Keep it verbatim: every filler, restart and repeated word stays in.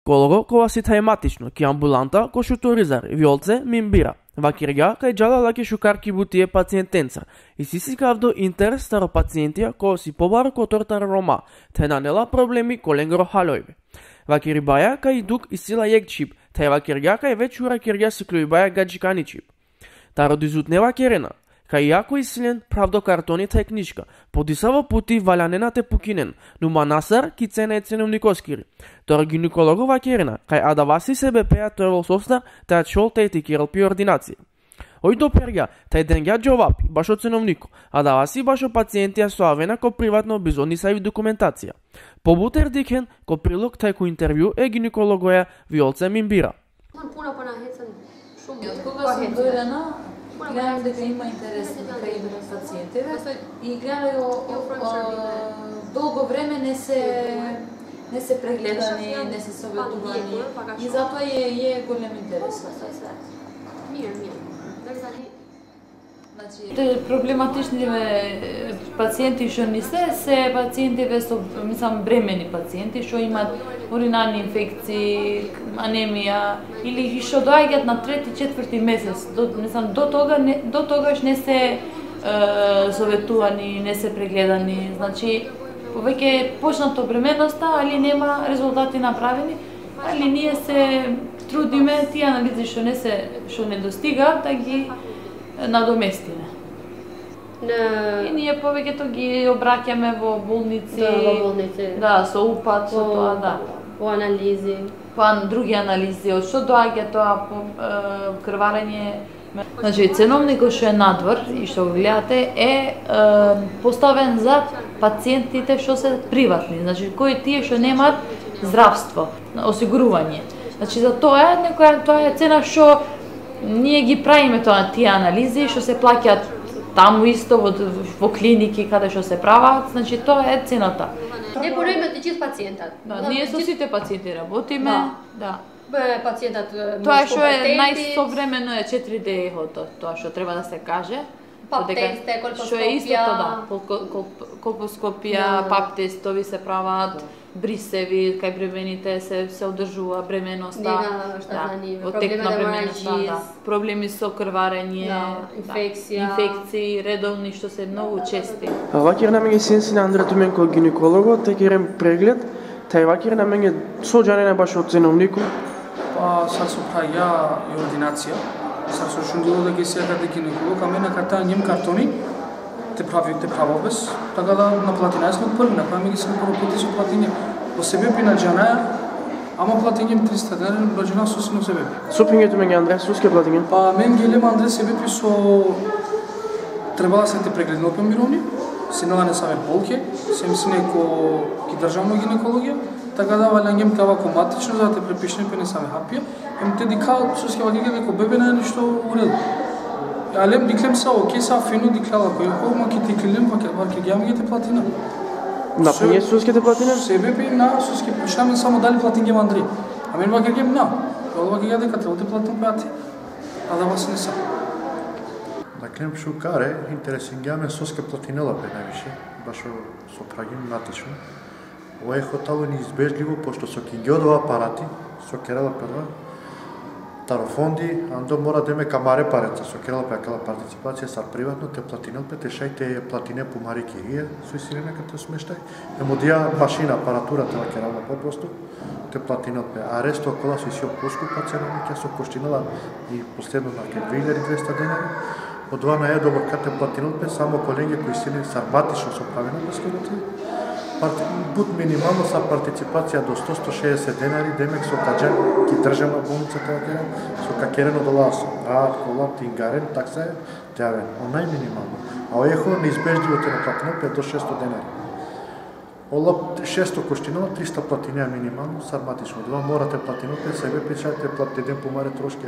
Колого кога си тајматично, ки амбуланта, ко шуторизар, виолце, мимбира. Вакирга, кај джала лаки шукарки бутие пациентенца. И си си кавдо интерес старо пациентија, ко си побар ко тортар рома, те нанела проблеми коленгро халојбе. Вакири баја, кај дук и сила јек чип, тај вакирга, кај вечура кирга си клюј баја гаджикани чип. Таро дизутнева керена, кај јако исилен правдо картони тај книжка, подисаво пути валянена те пукинен, но манасар ки цена е ценовникоскири. Тора гинекологова керена, кај адаваси себе пеја тој соста, тај чол тај ти кералпи ординација. Ој до перга, тај денгја джовапи, башо ценовнико, адаваси башо пациентија со авена ко приватно бизонисави документација. Побутер дикен, ко прилог тај ко интервју е гинекологоја Виолце Мимбира. Од кога сум дојдена, гледам дека има интерес кај пациентите и гледам долго време не се не се прегледани, не се советувани и затоа е, е голем интерес. Значи, проблематичните пациенти што не се, се пациентиве со, мислам, бремени пациенти што имаат уринарни инфекции, анемија или што доаѓаат на трети, четврти месец. До, мислам, до тога не, до тогаш не се е, советувани, не се прегледани. Значи, повеќе е почнато бременоста, али нема резултати направени, али ние се трудиме тие анализи што не се што не достигаат да ги надоместиме. Не... И ние повеќето ги обраќаме во болници, да, во болници. Да, со упат, со тоа, да. По анализи. По други анализи, од што доаѓа тоа по е, крварење. Значи, ценовникот што е надвор и што го гледате е, е поставен за пациентите што се приватни, значи кои тие што немаат здравство, осигурување. Значи за тоа е некоја тоа е цена што ние ги правиме тоа тие анализи што се плаќаат таму исто во, во клиники каде што се прават, значи тоа е цената. Не порајме чист пациентот. Да, ние со сите пациенти работиме, да. Бе, пациентот тоа што е најсовремено е четири ди ехото, тоа што треба да се каже. Пап тесте, колпоскопија. Што е истото, да, колпоскопија, пап тестови се прават, брисеви, кај бремените се се одржува бременоста, да, во тек на бременоста, да, проблеми со крварење, да, инфекција, инфекции редовни што се многу чести. Вакир на мене сенси на Андре Туменко гинеколого, те керем преглед, тај вакир на мене соџане баш од ценовнику. Па сад со праја и ординација. Сад со шундило да ги сега да гинеколог, а мене карта нjem картони, те прави те правобез, така да наплати најсме први, на која ми ги сме прво пути со платиње. По себе пи на джанаја, ама платињем триста денар, браđена со сино себе пи. Супињето мене Андре, суске платиње? Па мен гелем Андре себе пи со... Требала да се те прегледно по мировни, синела не саме болке, сем си неко ки државно гинекологија, така да валјањем кава коматично, за да те препишне пе не саме хапија, ем те дика суске вакига неко бебе на ништо уред. Алем диклем са окей са фено диклала кој о ма ки диклем пак ваки ги ами те платина. На пиње суске те платина? Себе би на суске пишаме само дали платиње Андри. А мен ваки ги на. Ол ваки ги дека треба да платам пати. А да вас не са. На клем шукаре интересингаме суске платинела бе највише, баш со прагим натично. Ова е хотало неизбежливо пошто со кингиодова апарати, со керала прва тарофонди, андо мора да име камаре пареца, со керала пекала партиципација са приватно, те платинел пе, те шајте платине по мари кирија, со исирена като смештај, емодија машина, апаратура тела керала попросту, те платинел пе, а ресто окола со исио поскупа ценовникја со коштинала и последно на ке две илјади и двеста денари, од два на едо те платинел пе, само колеге кои силен сарматично со правена пескалоти, Бут минимално са партиципација до сто до сто шеесет денари, демек со каджен ки државна болница тоа керен, со какерено доласо, рад, кола, тингарен, такса е тјавен, онај минимално. А оехо неизбежливо те наплатено пет до шесто денари. Ола шесто коштинова, триста платинеа минимално, сарматично. Два морате платино, пе себе печате платите ден помаре трошки,